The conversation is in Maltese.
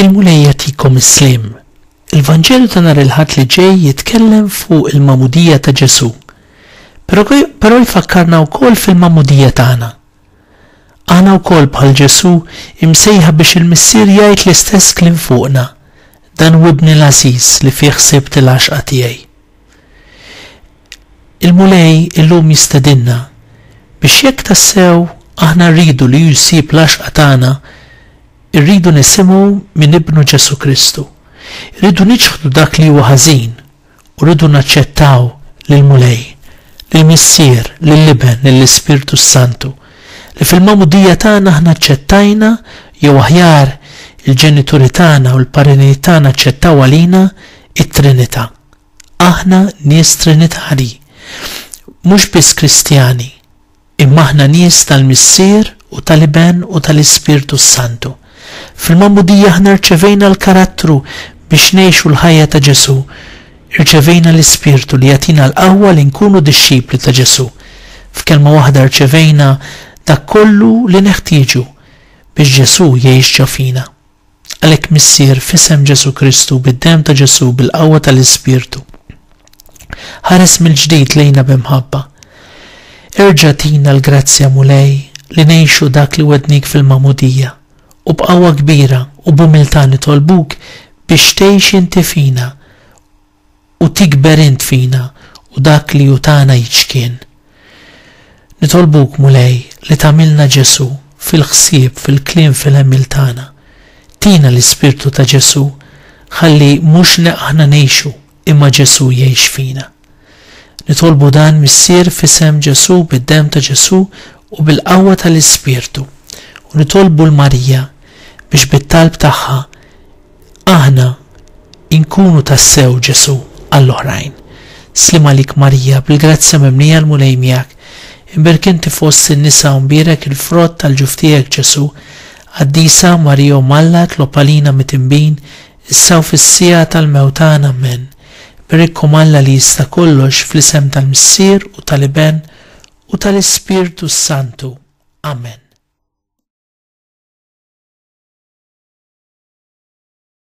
Il-Mulej jagħtikom is-sliem. Il-Vanġelu ta' nhar il-Ħadd li ġej jitkellem fuq il-magħmudija ta' Ġesù. Però, però jfakkarna wkoll fil-magħmudija tagħna. Aħna wkoll bħal Ġesù imsejħa biex il-Missier jgħid l-istess kliem fuqna. Dan hu ibni l-għażiż li fih sibt il-għaxqa tiegħi. Il-Mulej illum jistedinna biex jekk tassew aħna rridu li hu jsib l-għaxqa tagħna, irridu nisimgħu minn Ibnu Ġesù Kristu. Irridu niċħdu dak li huwa ħażin u rridu naċċettaw lill-Mulej, lill-Missier, lill-Iben, lill-Ispirtu s-Santu, li fil-magħmudija tagħna aħna aċċettajna jew aħjar il-ġenituri tagħna u l-parrini tagħna aċċettaw għalina it-Trinità. Aħna nies Trinitarji, mhux biss Kristjani, imma aħna nies tal-Missier u tal-Iben u tal-Ispirtu s-Santu. Fil-magħmudija aħna rċevejna l-karattru biex ngħixu l-ħajja ta' Ġesù. Irċevejna l-Ispirtu li jagħtina l-qawwa li nkunu dixxipli ta' Ġesù. F'kelma waħda rċevejna dak kollu li neħtieġu biex Ġesù jgħix ġo fina. Għalhekk Missier, f'isem Ġesù Kristu, bid-demm ta' Ġesù, bil-qawwa tal-Ispirtu, ħares mill-ġdid lejna bi mħabba. Erġa' tina l-grazzja Mulej li ngħixu dak li wegħdnik fil-magħmudija, u b'qawwa kbira u b'umiltà nitolbuk biex tgħix inti fina u tikber int fina u dak li hu tagħna jiċkien. Nitolbuk, Mulej, li tagħmilna Ġesù fil-ħsieb, fil-kliem, fil-għemil tagħna. Tina l-Ispirtu ta' Ġesù ħalli mhux aħna ngħixu imma Ġesù jgħix fina. Nitolbu dan Missier f'isem Ġesù bid-demm ta' Ġesù u bil-qawwa tal-Ispirtu. U nitolbu l-Marija biex bit-talb tagħha Aħna inkunu tassew Ġesù għall-oħrajn. Sliem għalik Marija, bil-grazzja mimlija l-Mulej miegħek. Imbierek inti fost in-nisa u mbierek il-frott tal-ġuf tiegħek Ġesù. Qaddisa Marija Omm Alla tlob għalina mitinbin, issa u fis-siegħa tal-mewt tagħna. Ammen. Berikkom Alla li jista' kollox fl-isem tal-Missier u tal-Iben u tal-Ispirtu s-Santu. Amen.